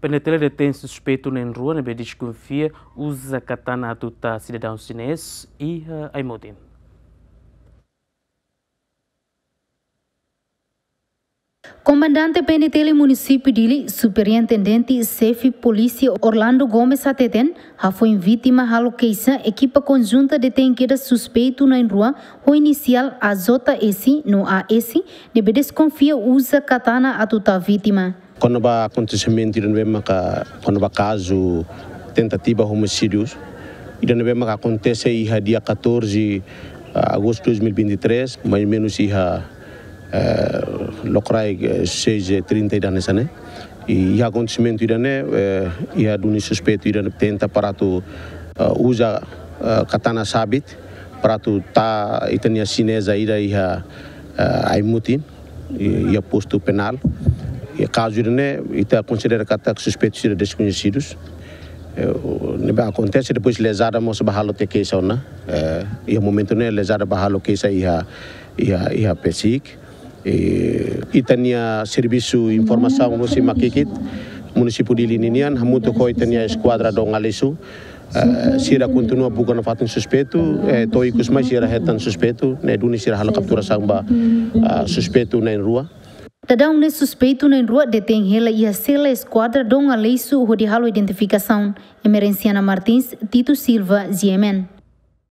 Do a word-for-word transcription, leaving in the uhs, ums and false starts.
PNTL detein suspeitu na'in-rua ne'ebé deskonfia uza katana atu tama sidadaun xinés iha Aimutin. Komandante PNTL Munisípiu Dili, Superintendente Xefe Polísia Orlando Gomes hateten, hafoin vítima halo keixa, ekipa konjunta detein kedas suspeitu na'in-rua ho inisiál A J S no A S, ne'ebé deskonfia uza katana atu tama vítima. Kona-ba akontesimentu ida ne'ebé maka, kona-ba kazu tentativa homicídiu ida ne'ebé maka akontese iha dia catorze, ah, agostu dois mil e vinte e três, mais ou menos iha, eh, lokraik, eh, seis e trinta ida hanesan ne'e. I iha akontesimentu ida-ne'e, eh, iha duni suspeitu ida-ne'e tenta para atu, eh, uza, eh, katana sabit para atu tama ita-nia xineza ida iha, eh, Aimutin, i, iha postu penál. I kazu ida-ne'e, ita konsidera katak suspeitu sira deskoñesidu. Eh, o, ne'ebé akontese, depois lezada mós bá halo tiha keixa ona. Eh, iha momentu ne'e lezada bá halo keixa iha, iha, iha PCIC. Eh, ita-nia servisu informasaun husi Makikit, Munisípiu Dili ninian, hamutuk ho ita-nia eskuadra Dom Aleixo, eh, sira kontinua buka nafatin suspeitu, eh, to'o ikus mai sira hetan suspeitu, ne'e duni sira halo kapturasaun ba, ah, suspeitu na'in-rua. Daudaun ne'e suspeitu na'in-rua detein hela iha sela eskuadra Dom Aleixo hodi halo identifikasaun. Emerenciana Martins, Tito Silva, G M N.